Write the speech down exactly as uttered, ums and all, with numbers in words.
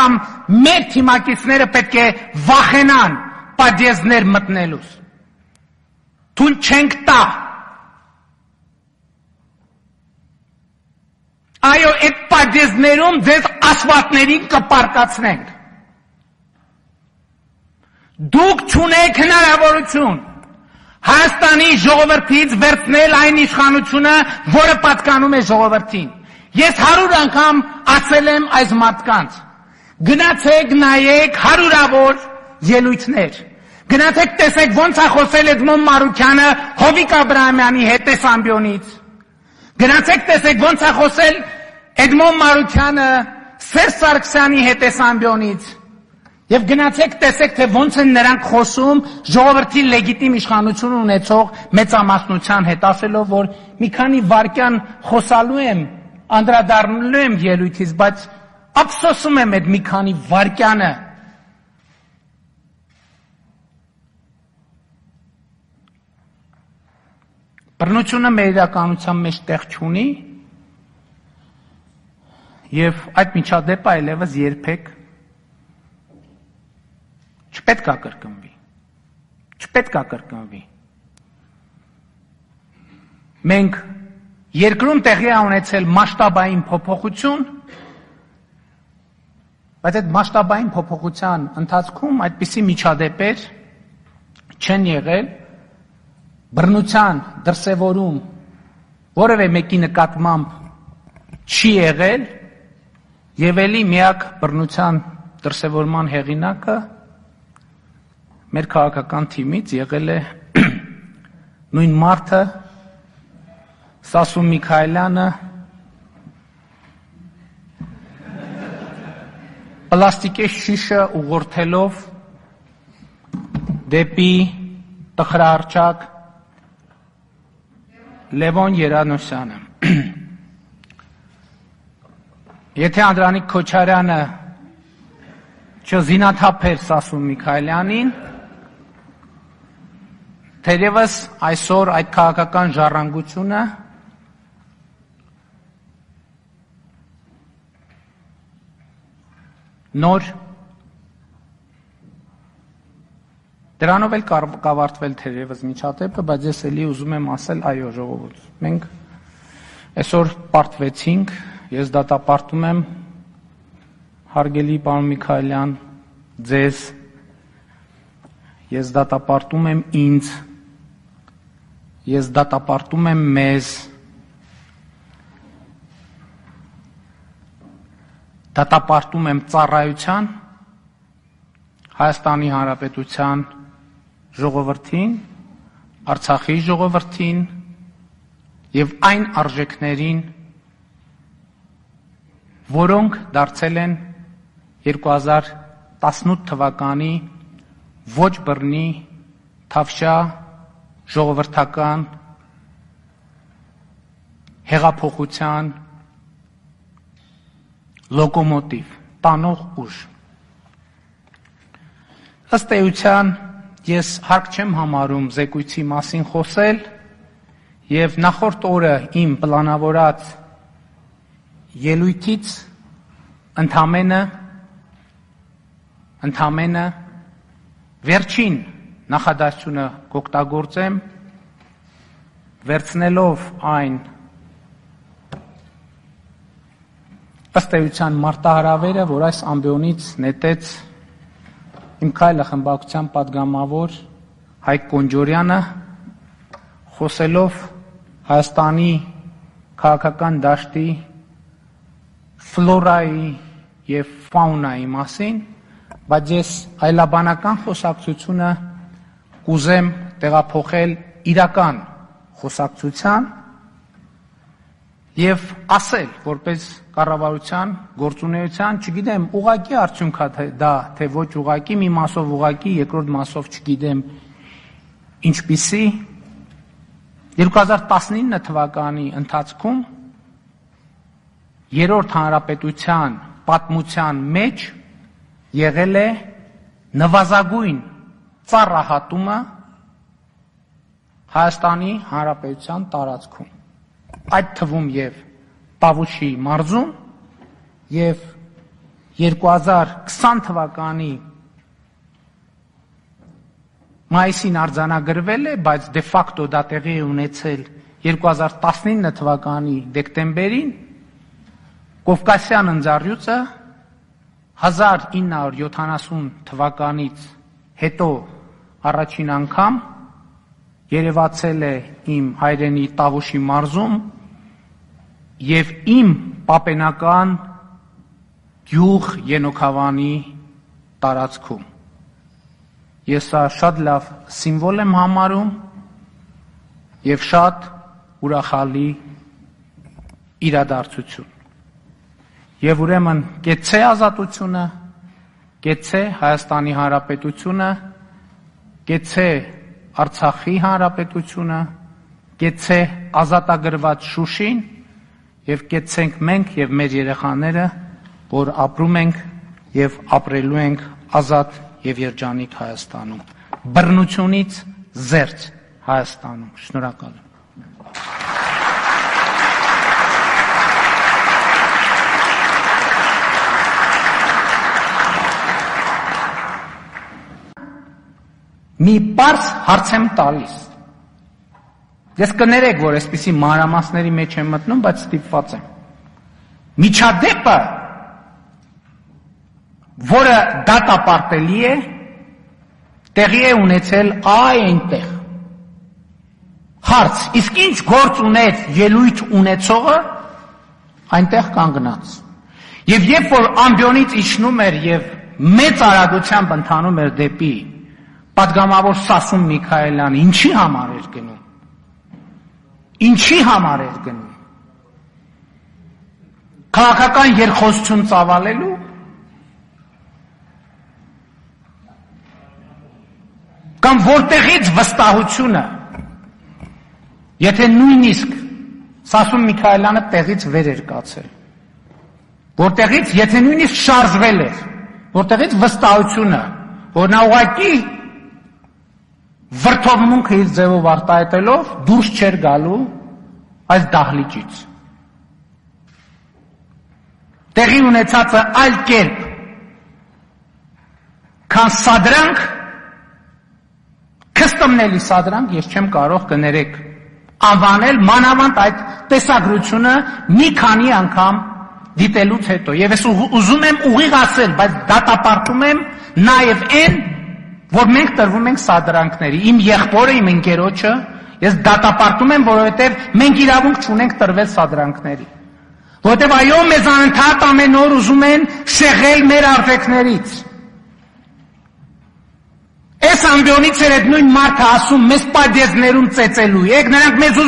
կամ մեր թիմակիցները պետք է վախենան պատժեզներ մտնելուց։ Թույլ չենք տա։ Այո, այդ պատժեզներում ձեզ ասֆալտներին կպարկացնենք։ Դուք չունեք հնարավորություն Հայաստանի ժողովրդից վերցնել այն իշխանությունը, որը պատկանում է ժողովրդին։ Ես հարյուր անգամ ասել եմ այս մարդկանց. գնացեք նայեք հարյուրավոր ելույթներ։ Գնացեք տեսեք ոնց է խոսել Էդմոն Մարուկյանը Հովիկ Աբրահամյանի հետ Տեսամբիոնից։ Գնացեք տեսեք ոնց է խոսել Էդմոն Մարուկյանը Սերժ Սարգսյանի հետ Տեսամբիոնից։ Եվ գնացեք տեսեք, թե ոնց են նրանք խոսում ժողովրդի լեգիտիմ իշխանություն ունեցող մեծամասնության հետ, ասելով, որ մի քանի վայրկյան խոսալու եմ, անդրադառնալու եմ ելույթից, բայց ափսոսում եմ այդ մի քանի վայրկյանը։ Բռնությունը մեր իրականության մեջ տեղ չունի, եւ այդ միջադեպը այլևս երբեք չպետք է կրկնվի, չպետք է կրկնվի։ Մենք երկրում տեղի է ունեցել մասշտաբային փոփոխություն, բայց այդ մասշտաբային փոփոխության ընթացքում այդպիսի միջադեպեր չեն եղել, բռնության դրսևորում որևէ մեկի նկատմամբ չի եղել, եւ ելի միակ բռնության դրսևորման հեղինակը մեր քաղաքական թիմից եղել է նույն մարդը Սասուն Միքայելյանը պլաստիկե շիշը ուղղորդելով դեպի տխրահռչակ Լևոն Երանոսյանը։ Եթե Անդրանիկ Քոչարյանը չզինաթափեր Սասուն Միքայելյանին, թերևս այսօր այդ քաղաքական ժառանգությունը նոր դրանով էլ կավարտվել թերևս միջադեպը, բայց ես էլի ուզում եմ ասել, այո, ժողովուրդ, մենք այսօր պարտվեցինք, ես դատապարտում եմ հարգելի պարոն Միքայելյան, ձեզ, ես դատապարտում եմ ինձ, ես դատապարտում եմ մեզ, դատապարտում եմ ծառայության Հայաստանի Հանրապետության ժողովրդին, Արցախի ժողովրդին եւ այն արժեքներին, որոնք դարձել են երկու հազար տասնութ թվականի ոչ բռնի թավշյա ժողովրդական հեղափոխության լոկոմոտիվ, տանող ուժ։ Ըստ էության ես հարկ չեմ համարում զեկույցի մասին խոսել եւ նախորդ օրը իմ պլանավորած ելույթից ընդամենը ընդամենը վերջին նախադասությունը կօգտագործեմ, վերցնելով այն ըստ էության մարտահրավերը, որ այս ամբիոնից նետեց Իմ քայլը խմբակցության պատգամավոր Հայկ Կոնջորյանը, խոսելով Հայաստանի քաղաքական դաշտի ֆլորայի եւ ֆաունայի մասին, բայց ես այլաբանական խոսակցությունը կուզեմ տեղափոխել իրական խոսակցության եւ ասել, որպես կառավարության գործունեության, չգիտեմ, ուղղակի արդյունք է դա, թե ոչ ուղղակի, մի մասով ուղղակի, երկրորդ մասով չգիտեմ ինչպիսի, երկու հազար տասնինը թվականի ընթացքում երրորդ հանրապետության պատմության մեջ եղել է նվազագույն ծառահատումը Հայաստանի Հանրապետության տարածքում, այդ թվում եւ Տավուշի մարզում եւ երկու հազար քսան թվականի մայիսին արձանագրվել է, բայց դե ֆակտո դա տեղի է ունեցել երկու հազար տասնինը թվականի դեկտեմբերին, Կովկասյան ընձառյուծը հազար ինը հարյուր յոթանասուն թվականից հետո առաջին անգամ երևացել է իմ հայրենի Տավուշի մարզում և իմ պապենական գյուղ Ենոքավանի տարածքում։ Ես սա շատ լավ սիմվոլ եմ համարում և շատ ուրախալի իրադարձություն։ Եվ ուրեմն կեցցե ազատությունը, կեցցե Հայաստանի Հանրապետությունը, կեցցե Արցախի Հանրապետությունը, կեցցե ազատագրված Շուշին և կեցցենք մենք և մեր երեխաները, որ ապրում ենք և ապրելու ենք ազատ և երջանիկ Հայաստանում, բռնությունից զերծ Հայաստանում։ Շնորհակալ եմ։ Մի պարզ հարց եմ տալիս։ Ես կներեք, որ այսպիսի մանրամասների մեջ եմ մտնում, բայց ստիպված եմ։ Միջադեպը, որը դատապարտելի է, տեղի է ունեցել այ այնտեղ։ Հարց, իսկ ինչ գործ ուներ ելույթ ունեցողը այնտեղ կանգնած։ Եվ երբ որ ամբիոնից իջնում էր և մեծ արագությամբ ընթանում էր դեպի պատգամավոր Սասուն Միքայելյանը, ինչի համար էր գնում։ Ինչի համար էր գնում։ Քաղաքական երկխոսություն ծավալելու, կամ որտեղից վստահությունը, եթե նույնիսկ Սասուն Միքայելյանը տեղից վեր էր կացել, որտեղից, եթե նույնիսկ շարժվել էր, որտեղից վստահությունը, որ նա ուղղակի վրդովմունքը իր ձևով արտահայտելով դուրս չէր գալու այս դահլիճից։ Տեղի ունեցածը այլ կերպ, քան սադրանք, քստմնելի սադրանք, ես չեմ կարող կներեք անվանել, մանավանդ այդ տեսագրությունը մի քանի անգամ դիտելուց հետո։ Եվ ես ուզում եմ ուղիղ ասել, բայց դատապարտում եմ նաև այն, որ մենք տրվում ենք սադրանքների, իմ եղբորը, իմ ընկերոջը, ես դատապարտում եմ, որովհետև մենք իրավունք չունենք տրվել սադրանքների, որովհետև այո, մեզ անընդհատ ամեն օր ուզում են շեղել մեր արժեքներից։ Այս ամբիոնից էր այդ նույն մարդը ասում, մեզ պադեզներում ծեծելու եք, նրանք մեզ